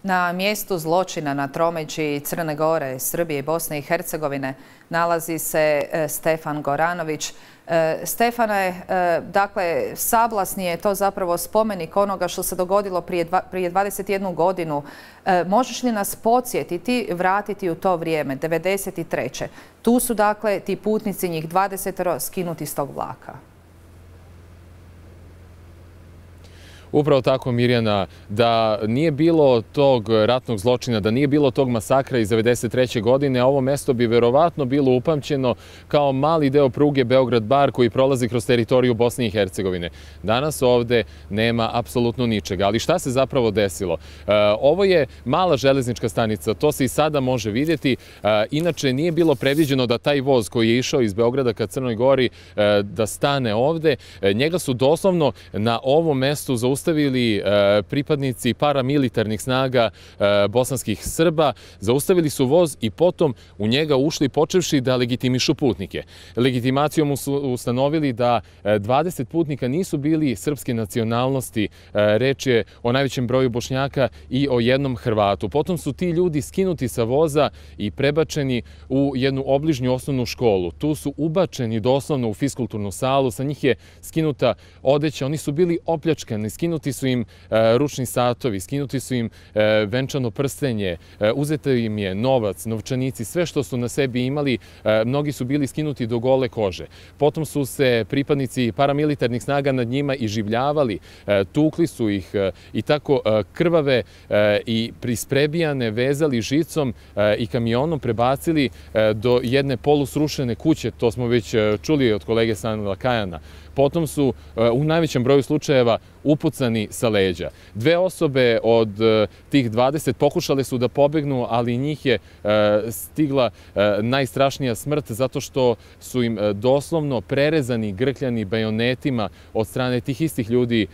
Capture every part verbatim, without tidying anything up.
Na mjestu zločina na tromeđi Crne Gore, Srbije i Bosne i Hercegovine nalazi se Stefan Goranović. Stefane, dakle, Sablasni je to zapravo spomenik onoga što se dogodilo prije, dva, prije dvadeset jednu godinu. Možeš li nas podsjetiti, vratiti u to vrijeme, devedeset treće. Tu su, dakle, ti putnici, njih dvadesetero, skinuti s tog vlaka. Upravo tako, Mirjana, da nije bilo tog ratnog zločina, da nije bilo tog masakra iz devedeset treće godine, ovo mesto bi verovatno bilo upamćeno kao mali deo pruge Beograd-Bar koji prolazi kroz teritoriju Bosne i Hercegovine. Danas ovde nema apsolutno ničega. Ali šta se zapravo desilo? Ovo je mala železnička stanica, to se i sada može vidjeti. Inače, nije bilo predviđeno da taj voz koji je išao iz Beograda ka Crnoj Gori da stane ovde. Njega su doslovno na ovom mestu zaustavili Zaustavili pripadnici paramilitarnih snaga bosanskih Srba, zaustavili su voz i potom u njega ušli počevši da legitimišu putnike. Legitimacijom su ustanovili da dvadeset putnika nisu bili srpske nacionalnosti, reč je o najvećem broju Bošnjaka i o jednom Hrvatu. Potom su ti ljudi skinuti sa voza i prebačeni u jednu obližnju osnovnu školu. Tu su ubačeni doslovno u fiskulturnu salu, sa njih je skinuta odeća, oni su bili opljačkani, skinuti Skinuti su im ručni satovi, skinuti su im venčano prstenje, uzeto im je novac, novčanici, sve što su na sebi imali, mnogi su bili skinuti do gole kože. Potom su se pripadnici paramilitarnih snaga nad njima iživljavali, tukli su ih i tako krvave i prisprebijane vezali žicom i kamionom prebacili do jedne polusrušene kuće, to smo već čuli od kolege Sanila Kajana. Potom su u najvećem broju slučajeva upucani sa leđa. Dve osobe od tih dvadeset pokušale su da pobegnu, ali njih je stigla najstrašnija smrt zato što su im doslovno prerezani grkljani bajonetima od strane tih istih ljudi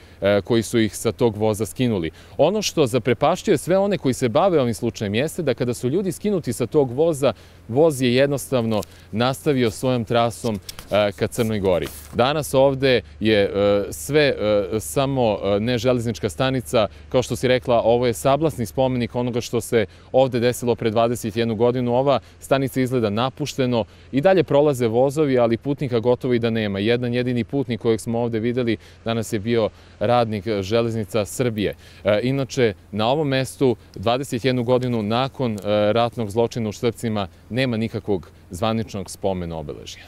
koji su ih sa tog voza skinuli. Ono što zaprepašćuje sve one koji se bave ovim slučajem jeste da kada su ljudi skinuti sa tog voza, voz je jednostavno nastavio svojom trasom ka Crnoj Gori. Danas ovde je sve samo ne železnička stanica, kao što si rekla, ovo je sablasni spomenik onoga što se ovde desilo pre dvadeset jednu godinu. Ova stanica izgleda napušteno, i dalje prolaze vozovi, ali putnika gotovo i da nema. Jedan jedini putnik kojeg smo ovde videli danas je bio radnik Železnica Srbije. Inače, na ovom mestu dvadeset jednu godinu nakon ratnog zločina u Štrpcima nema nikakvog zvaničnog spomena obeležja.